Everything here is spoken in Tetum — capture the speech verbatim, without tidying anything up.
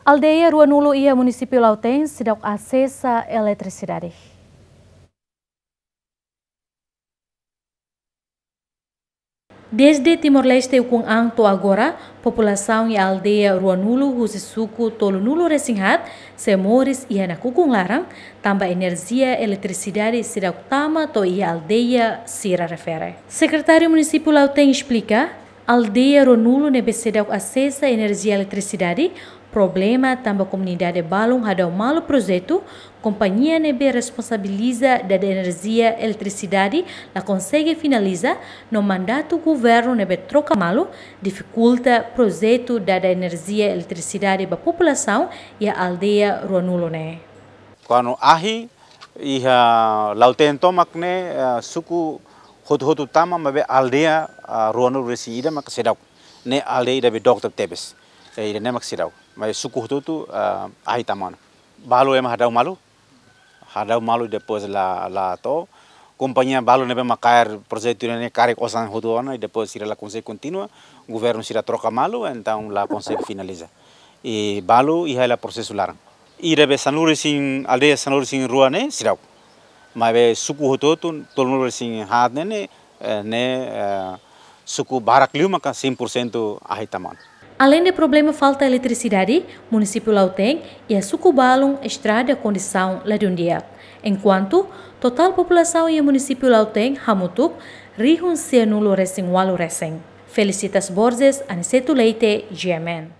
Aldeia ruanulu iha munisípiu Lautém seidauk asesa eletrisidade. Dezde Timor-Leste ukun an to'o agora, populasaun iha aldeia ruanulu husi suku tolunulu-resin-haat sei moris iha nakukun laran, tanba enerjia eletrisidade seidauk tama to'o iha aldeia sira refere. Sekretáriu Munisípiu Lautém esplika, aldeia ruanulu ne'ebé seidauk asesa enerjia eletrisidade, problema tanba komunidade balun hadau malu projetu, kompañia ne'ebé responsabiliza dada enerjia eletrisidade la konsege finaliza, no mandatu governu ne'ebé troka malu difikulta projetu dada enerjia eletrisidade ba populasaun iha aldeia ruanulu ne'e. Kuandu ahi iha Lautém tomak ne'e, eh, suku hotu-hotu tama, maibé aldeia, ah, ruanulu-resin-ida maka seidauk. Ne'e aldeia ida be dook tebes. Eh, ida-ne'e mak seidauk. Maibé suku hotu-hotu, ah, ahi tama ona. Balu ema hadau malu. Hadau malu, depois la, la to'o. Kompañia balu ne'ebé mak kaer projetu ne'e karik osan hotu ona, i depois sira la konsege kontinua. Governu sira troka malu, entaun la konsege finaliza. I balu iha hela prosesu laran. Ida be sanulu-resin, aldeia sanulu-resin-rua ne'e seidauk. Maibé suku hotu-hotu, tolunulu-resin-haat ne'e, ne'e, eh, ne'e, eh, suku barak liu maka cem por cento ahi tama ona. Aleinde problema falta eletrisidade, munisípiu Lautém iha suku balun estrada kondisaun ladún di'ak. Enkuantu, totál populasaun iha munisípiu Lautém hamutuk rihun sianulu-resin-ualu resin. Felicitas Borges, Aniceto Leite, G M N.